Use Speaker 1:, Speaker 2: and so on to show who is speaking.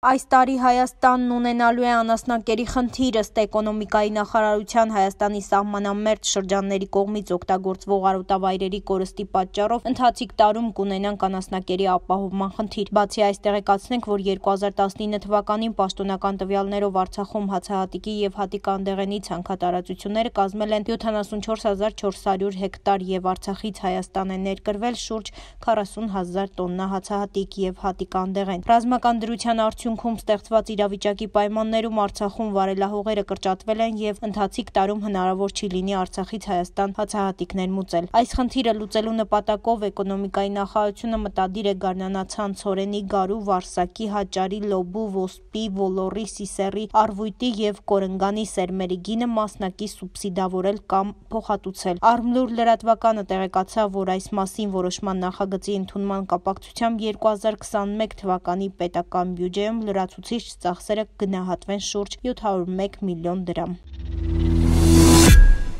Speaker 1: Այս տարի Հայաստանն ունենալու է անասնակերի խնդիր, ըստ էկոնոմիկայի նախարարության Հայաստանի սահմանամերձ շրջանների կողմից օգտագործվող արոտավայրերի կորստի պատճառով ընթացիկ տարում կունենանք անասնակերի ապահովման խնդիր։ Բացի այս, տեղեկացնենք, որ 2019 թվականին պաշտոնական տվյալներով Արցախում հացահատիկի և հատիկանդեղենի ցանքատարածությունները կազմել են 74400 հեկտար և Արցախից Հայաստան է ներկրվել շուրջ 40,000 տոննա հացահատիկ և հատիկանդեղեն։ Ռազմական դրության արդյունքում ստեղծված իրավիճակի պայմաններում Արցախում վարելահողերը կրճատվել են և ընթացիկ տարում հնարավոր չի լինի Արցախից Հայաստան հացահատիկներ մուծել։ Այս խնդիրը լուծելու նպատակով էկոնոմիկայի նախարարությունը մտադիր է գարնանացան, ցորենի, գարու, վարսակի, հաճարի, լոբու, ոսպի, ոլոռի, սիսեռի, առվույտի և կորնգանի սերմերի գինը մասնակի սուբսիդավորել կամ փոխհատուցել։ Արմլուր լրատվականը տեղեկացավ, որ այս մասին որոշման նախագծի ընդունման կապակցությամբ 2021 թվականի պետական բյուջեում լրացուցիչ ծախսերը կգնահատվեն շուրջ 701 միլիոն դրամ։